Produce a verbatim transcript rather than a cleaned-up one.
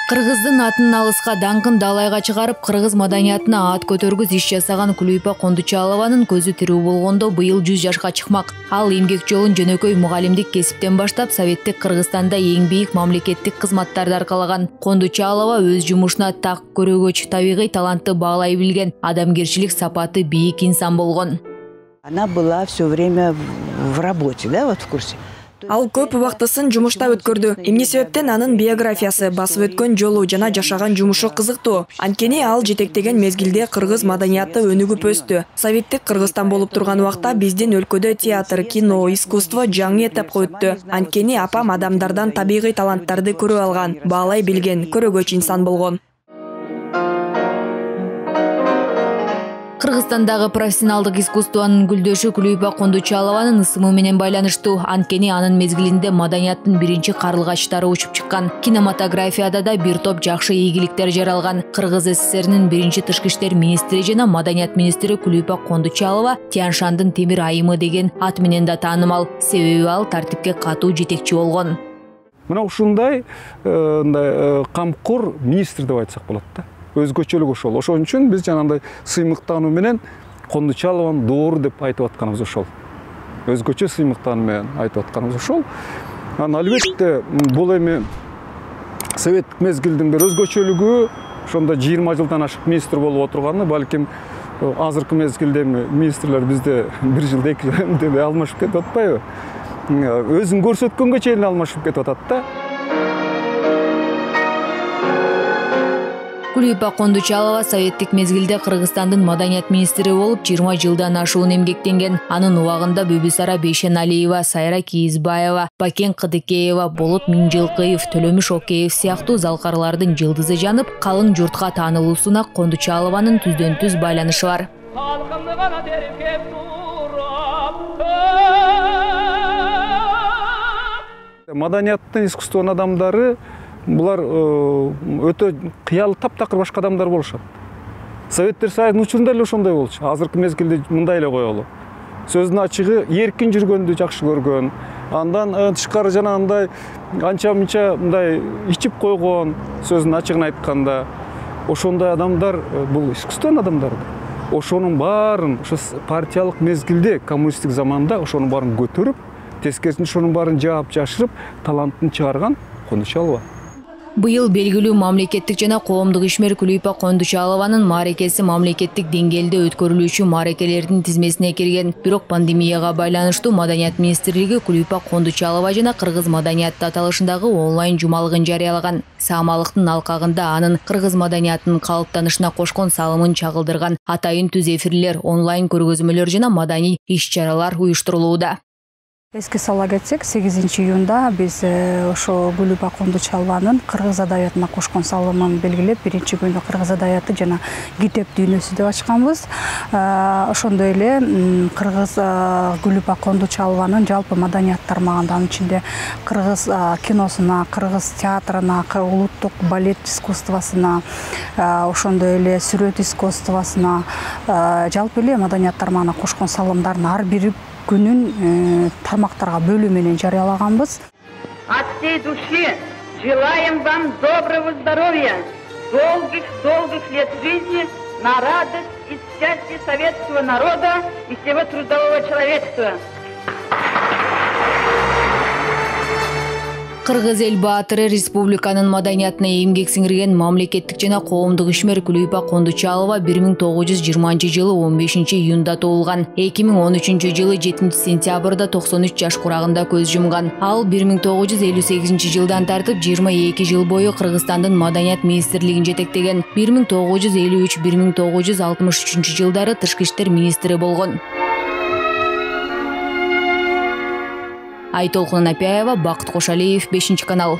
Кыргыздын атын алыска даңкын далайга чыгарып, кыргыз маданиятына ат көтөргүз иш жасаган Кулуйпа Кондучалованын көзү тирүү болгондо быйыл жүз жашка чыкмак. Ал эмгек жолун жөнөкөй мугалимдик кесиптен баштап Советтик Кыргызстанда эң бийик мамлекеттик кызматтарды аркалаган. Кондучалова өз жумушуна так көрөгөч, табигый талантты баалай билген, адамгерчилик сапаты бийик инсан болгон. Она была все время в работе, да, вот в курсе. Ал көп убактысын жумушта өткөрдү. Эмне себептен анын биографиясы, басып өткөн жолу жана жашаган жумушу кызыктуу. Анткени ал жетектеген мезгилде кыргыз маданияты өнүгүп өстү. Советтик Кыргызстан болуп турган убакта биздин өлкөдө театр, кино, искусство жаңы этапка өттү. Анткени апам адамдардан табигый таланттарды көрүп алган, баалай билген, көрөгөч инсан болгон. Кыргызстандагы профессионалдык искусствонун гүлдөшү Кулуйпа Кондучалованын ысымы менен байланыштуу. Анткени анын мезгилинде маданияттын биринчи карлыгачтары учуп чыккан. Кинематографияда да бир топ жакшы ийгиликтер жаралган. Кыргыз СССРинин биринчи тышкы иштер министри жана маданият министри Кулуйпа Кондучалова Тянь-Шандын темир айымы деген ат менен да таанымал. Себеби ал тартипке катуу жетекчи болгон. Мына ушундай мындай камкор министр деп айтсак болот да. Өзгөчөлүк ошол. Ошон үчүн биз жанагындай сыймыктануу менен Кондучалованы доор деп айтып атканыбыз ошол. Өзгөчө сыймыктануу менен айтып атканыбыз ошол. Анан албетте бул эми советтик мезгилдин бир өзгөчөлүгү, ошондо жыйырма жылдан ашык министр болуп отурганы, балким азыркы мезгилде министрлер бизде бир жылда эки жыл алмашып кетип атпайбы? Өзүн көрсөткөнгө чейин алмашып кетип атат да. Кулуйпа Кондучалова советтик мезгилде Кыргызстандын маданият министри болуп жыйырма жылдан ашуун эмгектенген. Анын убагында Бүбүсара Бейшеналиева, Сайра Кийизбаева, Бакен Кыдыкеева, Болот Миңжилкыев, Төлөмүш Океев сыяктуу залкарлардын жылдызы жанып, калың журтка таанылуусуна Кондучалованын түздөн түз байланышы бар. Маданияттын, искусствонун адамдары булар өтө кыялы таптакыр башка адамдар болушат. Советтер Союзунун учурунда эле ошондой болчу. Азыркы мезгилде мындай эле коелу. Сөздүн ачыгы эркин жүргөндү жакшы көргөн. Андан тышкары жанагындай анча-мынча мындай ичип койгон, сөздүн ачыгын айтканда, ошондой адамдар бул искусствонун адамдары. Ошонун баарын ошо партиялык мезгилде, коммунисттик заманда ошонун баарын көтөрүп, тескерисинче ошонун баарын жаап жашырып, талантын чыгарган Кондучалова. Быйыл белгилүү мамлекеттик жана коомдук ишмер Кулуйпа Кондучалованын мааракеси мамлекеттик деңгээлде өткөрүлүүчү мааракелердин тизмесине кирген. Бирок пандемияга байланыштуу маданият министрлиги Кулуйпа Кондучалова жана кыргыз маданияты аталышындагы онлайн жумалыгын жарыялаган. Саамалыктын алкагында анын кыргыз маданиятынын калыптанышына кошкон салымын чагылдырган атайын түз эфирлер, онлайн көргөзмөлөр жана маданий иш-чаралар уюштурулууда. Эске сала кетсек, сегизинчи июнда биз ошо Кулуйпа Кондучалованын кыргыз адабиятына кошкон салымын белгилеп, биринчи күндө кыргыз адабияты жана китеп дүйнөсү деп ачканбыз. Ошондой эле кыргыз Кулуйпа Кондучалованын жалпы маданият тармагында, анын ичинде кыргыз киносуна, кыргыз театрына, улуттук балет искусствосуна, ошондой эле сүрөт искусствосуна, жалпы эле маданият тармагына кошкон салымдардын ар бири күнүн тармактарга бөлүү менен жарыялаганбыз. От всей души желаем вам доброго здоровья, долгих-долгих лет жизни на радость и счастье советского народа и всего трудового человечества. Кыргыз эл баатыры республиканын маданиятына эмгек сиңирген мамлекеттик жана коомдук ишмер Кулуйпа Кондучалова бир миң тогуз жүз жыйырманчы жылы он бешинчи июнда туулган. эки миң он үчүнчү жылы жетинчи сентябрда токсон үч жаш курагында көз жумган. Ал бир миң тогуз жүз элүү сегизинчи жылдан тартып жыйырма эки жыл бою Кыргызстандын маданият министрлигин жетектеген. бир миң тогуз жүз элүү үч — бир миң тогуз жүз алтымыш үчүнчү жылдары тышкы иштер министри болгон. Айтолкун Апяева, Бакыт Кошалиев, бешинчи канал.